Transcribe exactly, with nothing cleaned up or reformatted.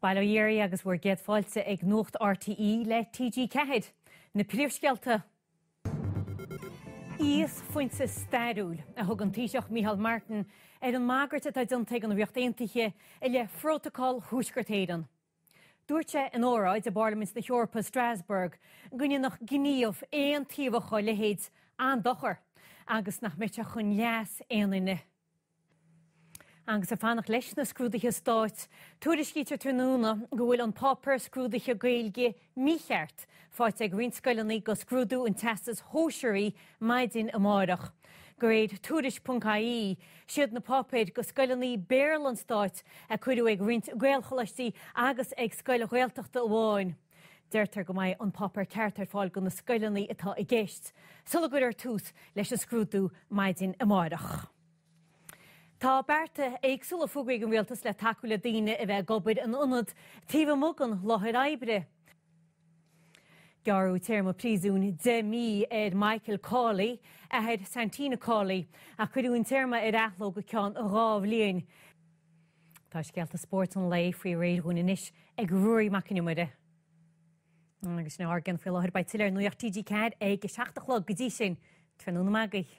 Bail ó Dhia oraibh agus bhur gcéad fáilte ag Nuacht RTÉ le TG Ceathair. Na príomhscéalta. Íosphointe stairiúil a thug an Taoiseach Micheál Martin ar an mbagairt atá déanta ag an Ríocht Aontaithe i leith Phrótacal Thuaisceart Éireann. Dúirt sé in óráid i bParlaimint na hEorpa Strasbourg go ndéanfadh gníomh aontaobhach dá leithéid an-dochar agus nach mbeadh sé chun leas aon duine. Agus ag fanacht leis na scrúduithe stáit, tuairiscítear tráthnóna go bhfuil an páipéar scrúdaithe Gaeilge mícheart faighte ag roinnt scoileanna do scrúdú an Teastais Shóisearaigh maidin amárach. De réir tuairisc.ie, siad na páipéir do scoileanna Béarla an stáit a cuireadh ag roinnt Gaelcholáistí agus ag scoil Ghaeltachta amháin. Deirtear go mbeidh an páipéar ceart ar fáil do na scoileanna atá i gceist, sula gcuirfear tús leis an scrúdú maidin amárach. Tá bearta éagsúla fógraithe ag an rialtas le tacú le daoine a bheith ag obair in ionad taobh amuigh den láthair oibre. Gearradh téarma príosúin deich mí ar Michael Cawley, athair Santina Cawley, ach cuireadh an téarma ar athló go ceann dhá bhliain. Tá scéalta spóirt an lae faoi réir dhúinn anois ag Ruairí Mac Con Iomaire. Agus sin ár gceann faoi láthair beidh tuilleadh ar Nuacht TG Ceathair ag a seacht a chlog go dtí sin, tráthnóna maith agaibh.